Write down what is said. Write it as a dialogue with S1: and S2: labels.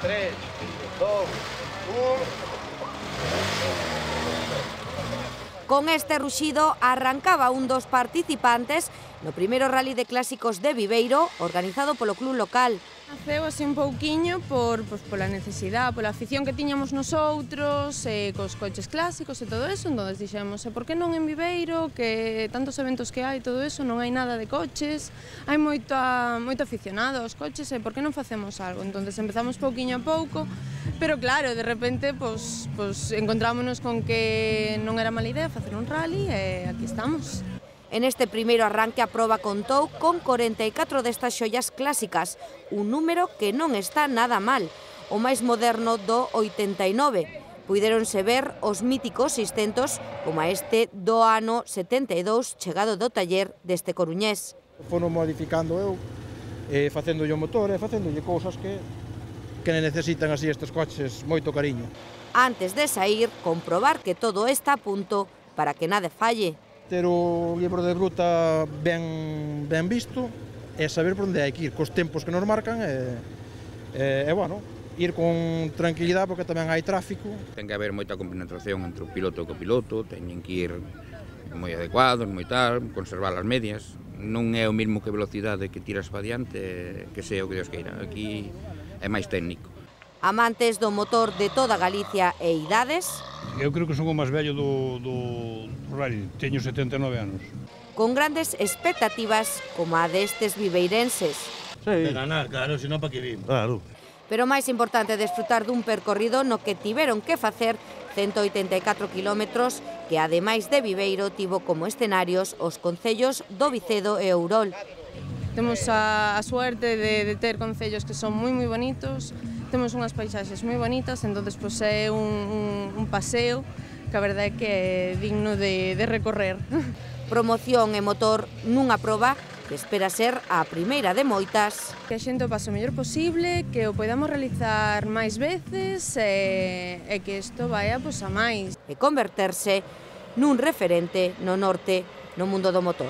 S1: 3, 2, 1...
S2: Con este ruxido arrancaba un dos participantes no primeiro rally de clásicos de Viveiro, organizado polo club local.
S3: Naceu así un pouquiño pola necesidade, pola afición que tiñamos nosoutros, cos coches clásicos e todo eso, entón dixemos, por que non en Viveiro, que tantos eventos que hai, todo eso, non hai nada de coches, hai moito aficionado aos coches, e por que non facemos algo? Entón empezamos pouquiño a pouco, pero claro, de repente, encontrámonos con que non era mala idea facer un rally e aquí estamos.
S2: En este primeiro arranque a proba contou con 44 destas xoias clásicas, un número que non está nada mal. O máis moderno do 89. Puidéronse ver os míticos 600 como a este do ano 72 chegado do taller deste coruñés.
S4: Fono modificando eu, facéndolle o motor e facéndolle cousas que necesitan así estes coches moito cariño.
S2: Antes de sair, comprobar que todo está a punto para que nada falle.
S4: Ter o libro de ruta ben visto e saber por onde hai que ir, cos tempos que nos marcan e bueno, ir con tranquilidade porque tamén hai tráfico.
S5: Ten que haber moita compenetración entre o piloto e o copiloto, teñen que ir moi adecuados, moi tal, conservar as medias. Non é o mesmo que velocidade que tiras para diante, que sea o que Dios queira. Aquí é máis técnico.
S2: Amantes do motor de toda Galicia e idades.
S6: Eu creo que son o máis vello do rally, teño 79 anos.
S2: Con grandes expectativas como a destes viveirenses.
S1: De ganar, claro, senón para que vim. Claro.
S2: Pero máis importante é desfrutar dun percorrido no que tiveron que facer 184 kilómetros que, ademais de Viveiro, tivo como escenarios os concellos do Vicedo e Ourol.
S3: Temos a suerte de ter concellos que son moi bonitos, temos unhas paisaxes moi bonitas, entón é un paseo que a verdade é que é digno de recorrer.
S2: Promoción e motor nunha proba que espera ser a primeira de moitas.
S3: Que a xente o pase o mellor posible, que o podamos realizar máis veces e que isto vaya a máis.
S2: E converterse nun referente no norte no mundo do motor.